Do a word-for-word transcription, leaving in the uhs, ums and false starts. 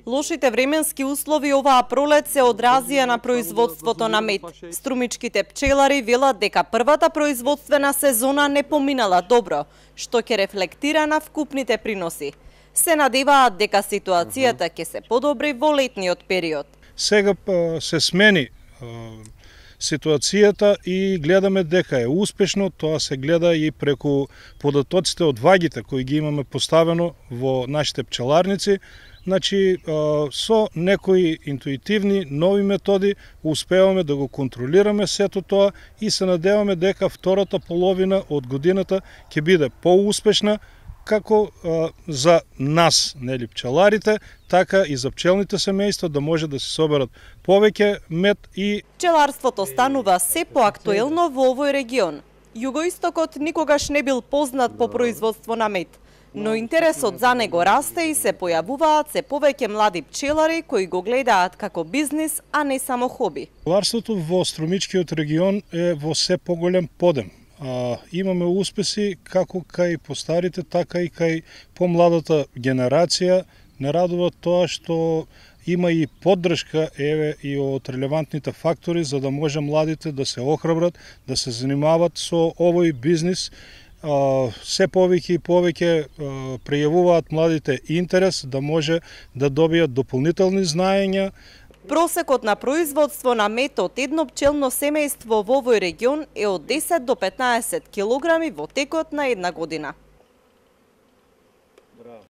Лошите временски услови оваа пролет се одразија на производството на мед. Струмичките пчелари велат дека првата производствена сезона не поминала добро, што ќе рефлектира на вкупните приноси. Се надеваат дека ситуацијата ќе се подобри во летниот период. Сега се смени ситуацијата и гледаме дека е успешно, тоа се гледа и преку податоците од вагите кои ги имаме поставено во нашите пчеларници. Значи, со некои интуитивни, нови методи успеваме да го контролираме сето тоа и се надеваме дека втората половина од годината ќе биде поуспешна, како а, за нас, нели, пчеларите, така и за пчелните семејства, да може да се соберат повеќе мед и... Пчеларството станува се поактуелно во овој регион. Југоистокот никогаш не бил познат по производство на мед, но интересот за него расте и се појавуваат се повеќе млади пчелари кои го гледаат како бизнис, а не само хоби. Пчеларството во Струмичкиот регион е во се поголем подем. А, имаме успеси како кај постарите, така и кај помладата генерација. Не радува тоа што има и поддршка еве и од релевантните фактори за да може младите да се охрабрат, да се занимаваат со овој бизнис. А, се повеќе и повеќе прејавуваат младите интерес да може да добијат дополнителни знаења. Просекот на производство на мед од едно пчелно семејство во овој регион е од десет до петнаесет килограми во текот на една година.